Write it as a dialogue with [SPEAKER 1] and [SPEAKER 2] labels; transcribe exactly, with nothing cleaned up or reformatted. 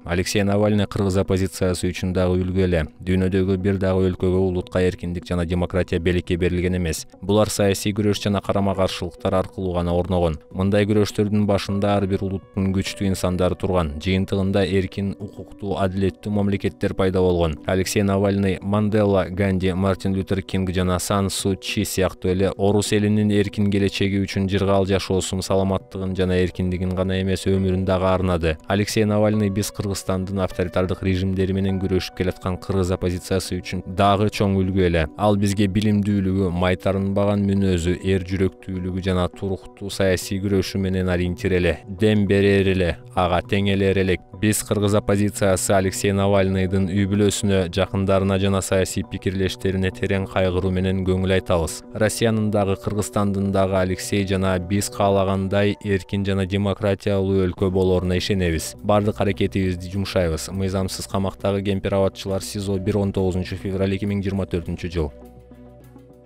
[SPEAKER 1] Алексей Навальный кыргыз оппозициясы үчүн дагы үлгү эле. Дүйнөдөгү бир дагы өлкөгө улутка эркиндик жана демократия белекке берилген эмес. Булар саясий күрөш жана карама-каршылыктар аркылуу гана орногон. Мындай күрөштөрдүн башында ар бир улуттун күчтүү инсандары турган. Жыйынтыгында эркин, укуктуу, адилеттүү мамлекеттер пайда болгон. Алексей Навальный, Мандела, Ганди, Мартин Лютер Кинг жана Сан Су Чи сыяктуу эле орус элинин эркин келечеги үчүн жыргал жашоосун, саламаттыгын жана эркиндигин гана эмес, өмүрүн дагы арнады. Алексей Навальный биз Кыргызстандын авторитардык режимдери менен күрөшүп келаткан кыргыз оппозициясы үчүн дагы чоң үлгү эле. Ал бизге билимдүүлүгү, майтарынбаган мүнөзү, эр жүрөктүүлүгү жана туруктуу саясий күрөшү менен ориентир эле. Дем берер эле, ага теңелер элек. Биз кыргыз оппозициясы Алексей Навальныйдын үй бүлөсүнө, жакындарына жана саясий пикирлештерине терең кайгыруу менен көңүл айтабыз. Россиянын дагы, Кыргызстандын дагы Алексей жана биз каалагандай эркин жана демократиялуу өлкө болоруна ишенебиз. Бардык аракетибизди жумшайбыз. Мыйзамсыз камактагы кемпир абадчылар СИЗО бир он тогузунчу февраль эки миң жыйырма төртүнчү жыл.